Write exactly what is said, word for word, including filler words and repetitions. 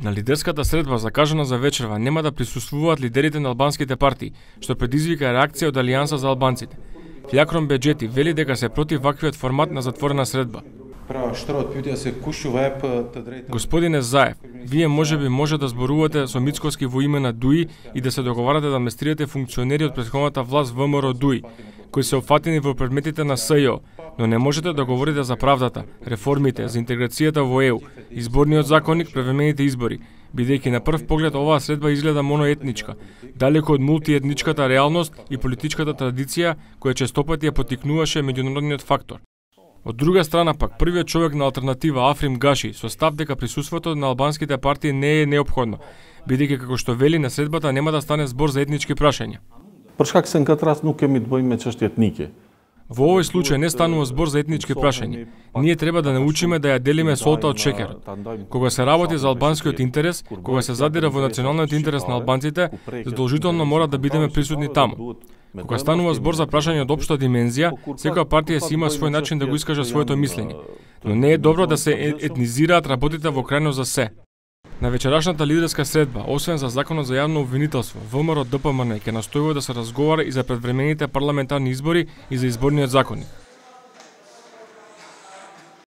На лидерската средба закажана за вечерва нема да присуствуваат лидерите на албанските партии, што предизвика реакција од Алијанса за албанците. Флякрон Беџети вели дека се против ваквиот формат на затворена средба. Господине Заев, вие можеби може да зборувате со Мицкоски во име на ДУИ и да се договарате да амнестирате функционери од претходната власт ВМРО ДУИ, кои се опфатени во предметите на СЈО, но не можете да говорите за правдата, реформите, за интеграцијата во ЕУ, изборниот законник, превремените избори, бидејќи на прв поглед оваа средба изгледа моноетничка, далеко од мултиетничката реалност и политичката традиција која честопати ја поттикнуваше меѓународниот фактор. Од друга страна пак, првиот човек на алтернатива Африм Гаши со став дека присуството на албанските партии не е неопходно, бидејќи како што вели на средбата нема да стане збор за етнички прашања. Përshkak se në këtë rast nuk kemi të bëjmë me çështje etnike. Во овој случај не станува збор за етнички прашања. Ние треба да научиме да ја делиме солта од шеќерот. Кога се работи за албанскиот интерес, кога се задира во националниот интерес на албанците, задолжително мора да бидеме присутни таму. Кога станува збор за прашање од општа димензија, секоја партија си има свој начин да го искаже своето мислење. Но не е добро да се етнизираат работите во крајно за се. На вечерашната лидерска средба, освен за законот за јавно обвинителство, ВМРО ДПМН ќе настојува да се разговара и за предвремените парламентарни избори и за изборниот законник.